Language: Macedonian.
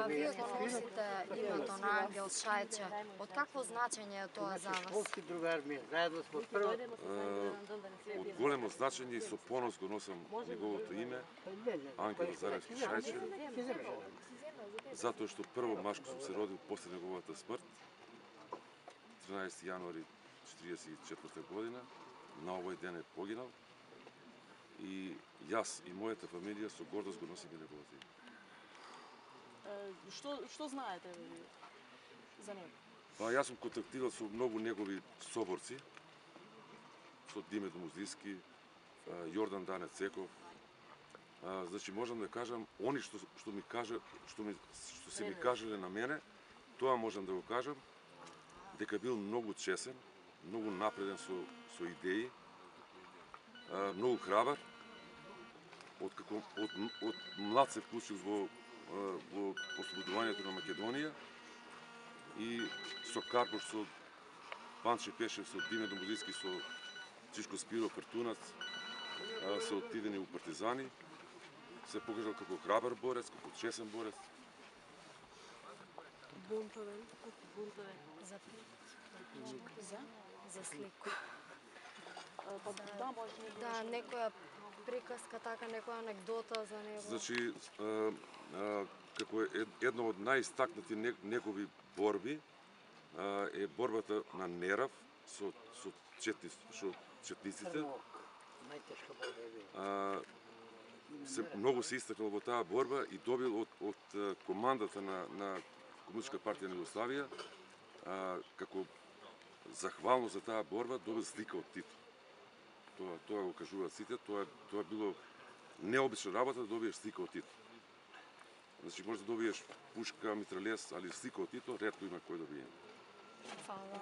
Вие го носите името на Ангел Шајче. Од какво значење е тоа за вас? Школски другар ми е, заедно сме прво. Од големо значење и со понос го носам неговото име, Ангел Заревски Шајче, затоа што прво машко сум се родил после неговата смрт, 13 јануари 1944 година, на овој ден е погинал, и јас и мојата фамилија со гордост го носиме неговото име. Што знаете за него? Па јас сум контактирал со многу негови соборци, со Димитро Муздиски, Јордан Дане Цеков. Значи можам да кажам, они што се ми кажале на мене, тоа можам да го кажам, дека бил многу чесен, многу напреден со идеи, многу храбар, од млад се вклучил во ослободувањето на Македонија и со Карпош, со Панче Пешев, со Димитро Муздиски, со Чишко Спиро Картунац, се отидени у партизани, се покажал како храбар борец, како чесен борец. Бунтовен. За слику. Да, некоја приказка, така некоја анегдота за него. Значи, како една од најистакнати негови борби е борбата на Нерав со четниците. Најтешка борба е била. Многу се истакнал во таа борба и добил од командата на Комунистичка партија на Југославија, како захвално за таа борба, добил слика од Тито. Тоа го кажуваат сите, тоа било необична работа да добиеш слика од Тито. Значи може да добиеш пушка, митралез, али слика од Тито ретко има кој да биде. Фала.